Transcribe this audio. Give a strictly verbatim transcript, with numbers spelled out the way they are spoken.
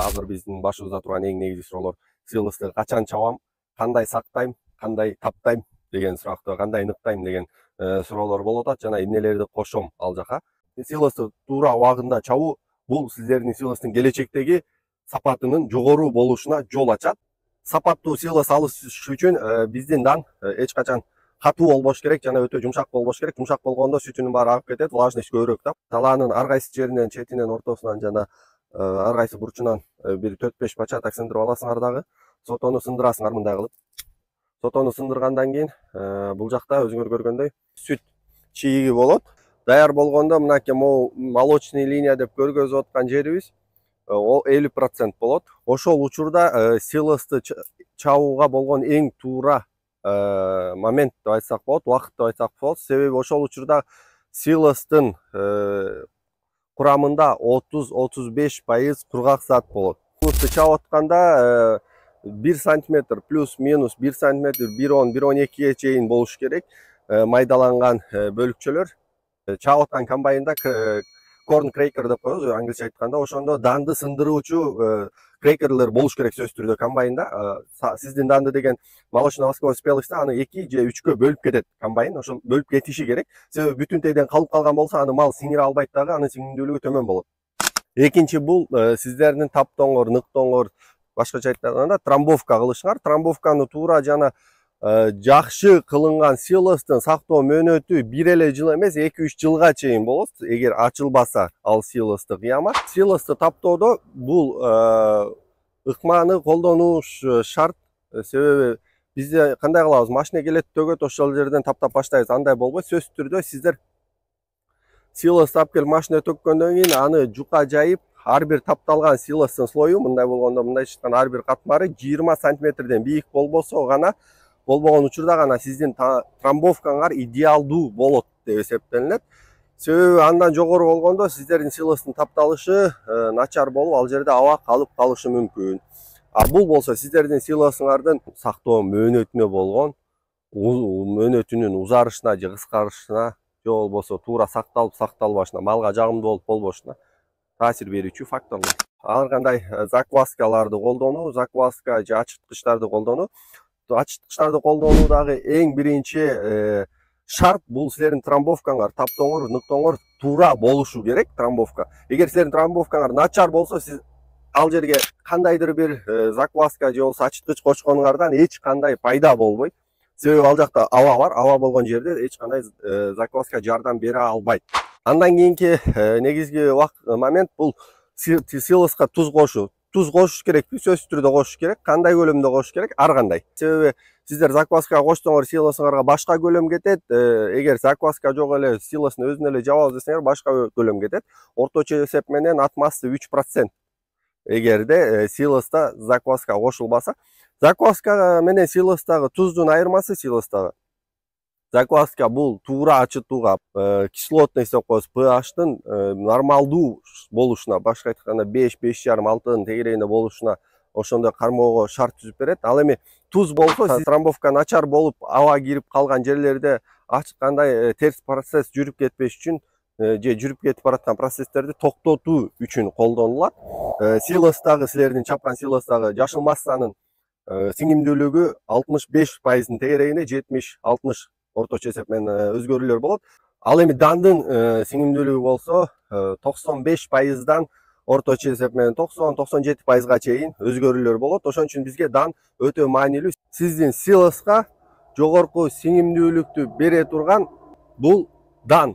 азыр биздин башыбызда турган эң негизги суроолор силосты качан чабам, кандай сактайм, кандай таптайм деген суракты, кандай ыныктайм деген суроолор болуп атат жана эмнелерди кошом ал жака. Силосты туура убагында чабуу бул сиздердин силостун келечектеги сапатынын жогору болушуна жол ачат. Сапаттуу силос алыш үчүн биздин дан эч качан катуу болбош керек жана өтө жумшак болбош керек. Жумшак болгондо сүтүнүн баары агып кетет, влажность көбүрөөк да. Талаанын ар кайсы жеринен, четинен, ортосунан жана ар кайсы бурчунан бир төрт беш бача так сындырып аласыңар дагы. Сотону сындырасыңар мындай кылып. Сотону сындыргандан кийин бул жакта өзүңөр көргөндөй сүт чийиги болот. Даяр болгондо мынакей могу молочный линия деп көргөзүп аткан жерибиз ол элүү процент болот. Ошол учурда силосты чабууга болгон эң туура момент деп айтсак болот, убакыт деп айтсак болот. Себеби ошол учурда силостун курамында отуз отуз беш пайыз кургак зат болот. Силосты чабып атканда бир сантиметр плюс-минус бир сантиметр бир он бир он экиге чейин болуш керек майдаланган бөлүкчөлөр. Чабып аткан комбайнда корн крекер деп коебуз англисче айтканда, ошондо данды сындыруучу крекерлер болуш керек сөзсүз түрдө комбайнда. Сиздин данды деген молочно-восковой спелость аны эки же үчкө бөлүп кетет комбайн, ошол бөлүп кетиши керек. Себеби бүтүн тегден калып калган болсо аны мал сиңире албайт дагы, анын сиңимдүүлүгү төмөн болот. Экинчи бул сиздердин таптооңор, ныктооңор, башкача айтканда трамбовка кылышыңар. Трамбовканы туура жана жакшы кылынган силостун сактоо мөөнөтү бир эле жыл эмес, эки үч жылга чейин болот, эгер ачылбаса ал силосты кыямат. Силосты таптоодо бул ыкманы колдонуш шарт. Себеби бизде кандай кылабыз, машина келет, төгөт, ошол жерден таптап баштайбыз, андай болбойт. Сөзсүз түрдө сиздер силосту алып келип машина төккөндөн кийин аны жука жайып, ар бир тапталган силостун слою мындай болгондо, мындай чыккан ар бир катмары жыйырма сантиметрден бийик болбосо гана, болбогон учурда гана сиздин трамбовкаңар идеалдуу болот деп эсептелинет. Себеби андан жогору болгондо сиздердин силостун тапталышы начар болуп, ал жерде аба калып калышы мүмкүн. А бул болсо сиздердин силосуңардын сактоо мөөнөтүнө болгон, мөөнөтүнүн узарышына же кыскарышына, же болбосо туура сакталып сакталбашына, малга жагымдуу болуп болбошуна таасир берүүчү факторлор. Ар кандай закваскаларды колдонуу, закваска же ачыткычтарды колдонуу. Ачыткычтарды колдонуу дагы эң биринчи шарт бул силердин трамбовкаңар, таптооңор, ныктооңор туура болушу керек. Трамбовка. Эгер силердин трамбовкаңар начар болсо, сиз ал жерге кандайдыр бир закваска же болбосо ачыткыч кочконуңардан эч кандай пайда болбойт. Себеби ал жакта аба бар, аба болгон жерде эч кандай закваска жардам бере албайт. Андан кийинки негизги момент бул силоска туз кошуу. Туз кошуш керекпи? Сөзсүз түрдө кошуш керек. Кандай көлөмдө кошуш керек? Ар кандай. Себеби сиздер закваска кошсоңор, силосуңарга башка көлөм кетет. Эгер закваска жок эле силосун өзүнө эле жабабыз десеңер, башка көлөм кетет. Орточо эсеп менен атмасы үч процент. Эгерде силоста закваска кошулбаса, закваска менен силостагы туздун айырмасы силостагы. Закваска бул туура ачытууга, кислотность деп коебуз, pH'тын нормалдуу болушуна, башка айтканда беш, беш жарым, алтынын тегерегинде болушуна ошондой кармоого шарт түзүп берет. Ал эми туз болсо, трамбовка начар болуп, аба кирип калган жерлерде ачкандай терс процесс жүрүп кетпеш үчүн же жүрүп кетип бараткан процесстерди токтотуу үчүн колдонулат. Силостагы, силердин чапкан силостагы жашыл массанын сиңимдүүлүгү алтымыш беш пайыздын тегерегинде, жетимиш алтымыш орточо эсеп менен өзгөрүүлөр болот. Ал эми дандын сиңимдүүлүгү болсо токсон беш пайыздан орточо эсеп менен токсон токсон жети пайызга чейин өзгөрүүлөр болот. Ошон үчүн бизге дан өтө маанилүү. Сиздин силоска жогорку сиңимдүүлүктү бере турган бул дан.